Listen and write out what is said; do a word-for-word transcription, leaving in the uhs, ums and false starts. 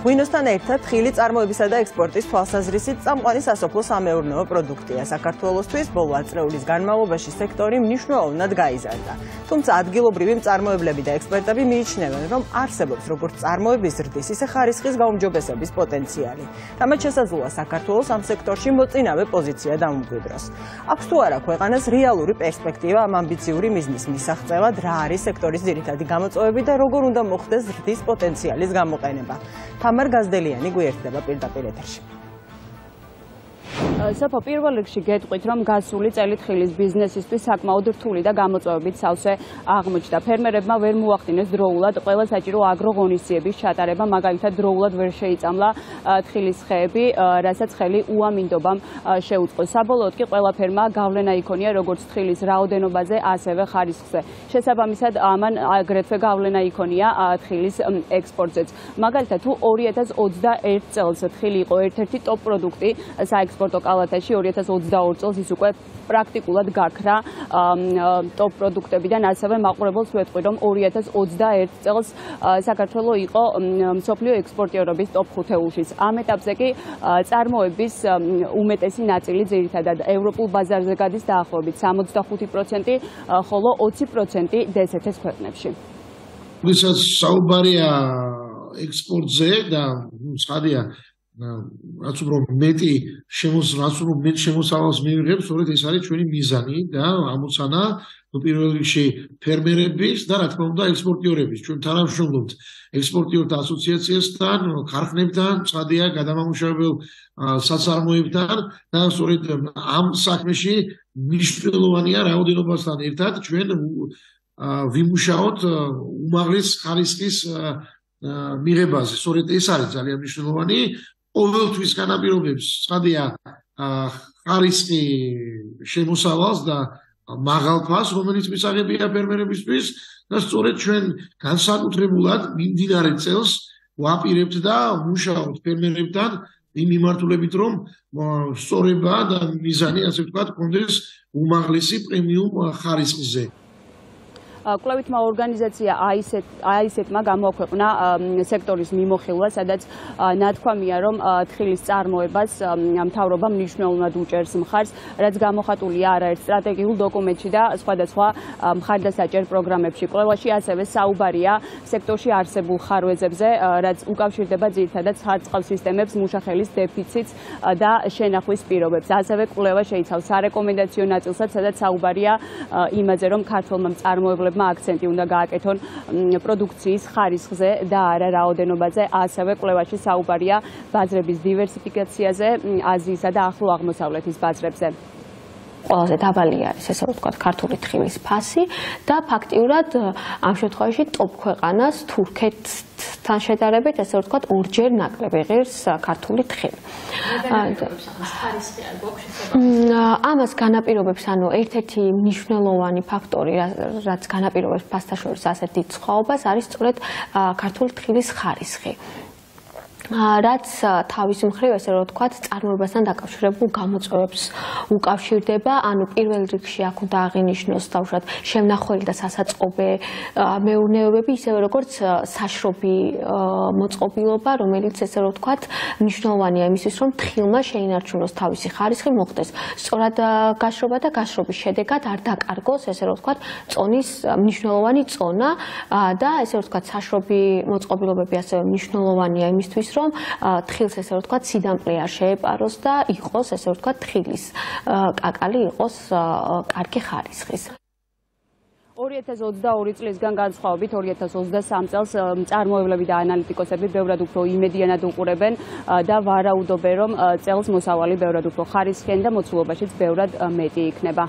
ღვინოსთან ერთად ხილი წარმოებისა და ექსპორტის თვალსაზრისით წამყვანი სასოფლო სამეურნეო პროდუქტია. საქართველოსთვის ბოლო ათ წლების განმავლობაში სექტორი მნიშვნელოვნად გაიზარდა. თუმცა ადგილობრივი მწარმოებლები და ექსპერტები მიიჩნევენ, რომ არსებობს როგორც წარმოების ზრდის, ისე ხარისხის გაუმჯობესების პოტენციალი. რამაც შესაძლოა საქართველოს ამ სექტორში მოწინავე პოზიცია დაუმკვიდროს. აქვს თუ არა ქვეყანას რეალური პერსპექტივა ამ ამბიციური მიზნის მისაღწევად, რა არის სექტორის ძირითადი გამოწვევები და როგორ უნდა მოხდეს ზრდის პოტენციალის გამოყენება. თამარ გაზდელიანი გვერდება პირდაპირ ეთერში. სოფო პირველ რიგში გეტყვით, რომ გასული წელი თხილის ბიზნესისთვის საკმაოდ რთული და გამოწვევებით სავსე აღმოჩნდა. ფერმერებმა ვერ მოახდინეს დროულად ყველა საჭირო აგროღონისძიების ჩატარება, მაგალითად დროულად ვერ შეიწამლა თხილის ხეები, რასაც ხელი უამინდობამ შეუწყო. საბოლოოდ კი ყველა ფერმა გავლენა იქონია როგორც თხილის რაოდენობაზე, ასევე ხარისხზე. შესაბამისად, ამან აგრეთვე გავლენა იქონია თხილის ექსპორტზეც. მაგალითად, თუ ორი ათას ოცდაერთ წელს თხილი იყო ერთ-ერთი ტოპ პროდუქტი საექსპორტო კალათაში, ორი ათას ოცდაორი წელს ის უკვე პრაქტიკულად გაქრა ტოპ პროდუქტებიდან, ასევე მაყურებელს ვეთყვი, რომ ორი ათას ოცდაერთ წელს საქართველო იყო მსოფლიო ექსპორტიორების ტოპ ხუთეულში. ამ ეტაპზე კი წარმოების უმეტესი ნაწილი ძირითადად ევროპულ ბაზარზე გადის დაახლოებით სამოცდახუთი პროცენტი, ხოლო ოცი პროცენტი დი ეს ეთ-ის ქვეყნებში. როდესაც საუბარია ექსპორტზე და ცხადია რაც უფრო მეტი შემოსავალს მიიღებს, სწორედ ეს არის ჩვენი მიზანი და ამოცანა პირველ რიგში ფერმერების და რა თქმა უნდა ექსპორტიორების. ჩვენ თანამშრომლობთ ექსპორტიორთა ასოციაციასთან, ქარხნებთან, ცხადია გადამამუშავებელ საწარმოებთან და სწორედ ამ საქმეში მნიშვნელოვანია რაოდენობასთან ერთად ჩვენ ვიმუშაოთ უმაღლეს ხარისხის მიღებაზე. სწორედ ეს არის ძალიან მნიშვნელოვანი. ყოველთვის განაპირობებს ცხადია ხარისხი შემოსავალს და მაღალ ფასს, რომელიც მისაღებია ფერმერებისთვის და სწორედ ჩვენ განსაკუთრებულად მიმდინარე წელს ვაპირებთ და ვმუშაობთ ფერმერებთან იმ მიმართულებით, რომ სწორება და მიზანი, ასე ვთქვათ, კონდეს უმაღლესი პრემიუმ ხარისხზე. კვლევითმა ორგანიზაცია აი ეს ეტმა გამოაქვეყნა სექტორის მიმოხილვა, სადაც ნათქვამია, რომ თხილის წარმოებას მთავრობა მნიშვნელოვნად უჭერს მხარს, რაც გამოხატულია არაერთ სტრატეგიულ დოკუმენტში და სხვადასხვა მხარდასაჭერ პროგრამებში. კვლევაში ასევე საუბარია სექტორში არსებულ ხარვეზებზე, რაც უკავშირდება ძირითადად სარწყავ სისტემებს, მუშახელის დეფიციტს და შენახვის პირობებს. ასევე კვლევა შეიცავს სარეკომენდაციო ნაწილსაც, სადაც საუბარია იმაზე, რომ ქართველმა მწარმოებლებმა აქცენტი უნდა გააკეთონ პროდუქციის ხარისხზე და არა რაოდენობაზე. ასევე კვლევაში საუბარია ბაზრების დივერსიფიკაციაზე, აზიისა და ახლო აღმოსავლეთის ბაზრებზე. ყველაზე დაბალი არის, ესე ვთქვათ, ქართული თხილის ფასი და ფაქტიურად ამ შემთხვევაში ტოპ ქვეყანას თურქეთთან შედარებით, ესე ვთქვათ, ორჯერ ნაკლები ღირს ქართული თხილი. ამას განაპირობებს, ანუ ერთ-ერთი მნიშვნელოვანი ფაქტორი, რაც განაპირობებს ფასთან შორის ასეთ დიდ სხვაობას, არის სწორედ ქართული თხილის ხარისხი. რაც თავის მხრივ, ესე რომ ვთქვათ, წარმოებასთან დაკავშირებულ გამოწვევებს უკავშირდება, ანუ პირველ რიგში აქ უნდა აღინიშნოს თავშად შემნახველი და სასაწყობე მეურნეობები, ისევე როგორც საშრობი მოწყობილობა, რომელიც ესე რომ ვთქვათ, მნიშვნელოვანია იმისთვის, რომ თხილმა შეინარჩუნოს თავისი ხარისხი, მოხდეს სწორად გაშრობა და გაშრობის შედეგად არ დაკარგოს, ესე რომ ვთქვათ, წონის მნიშვნელოვანი წონა და ესე რომ ვთქვათ, საშრობი მოწყობილობები ასევე მნიშვნელოვანია იმისთვის, რომ თხილს ესე რომ ვთქვათ სიდამკლე არ შეეპაროს და იყოს ესე რომ ვთქვათ თხილის კაკალი იყოს კარგი ხარისხის. ორი ათას ოცდაორი წლისგან განსხვავებით ორი ათას ოცდასამი წელს მწარმოებლები და ანალიტიკოსები ბევრად უფრო იმედიანად უყურებენ და ვარაუდობენ, რომ წელს მოსავალი ბევრად უფრო ხარისხიანი და მოცულობაშიც ბევრად მეტი იქნება.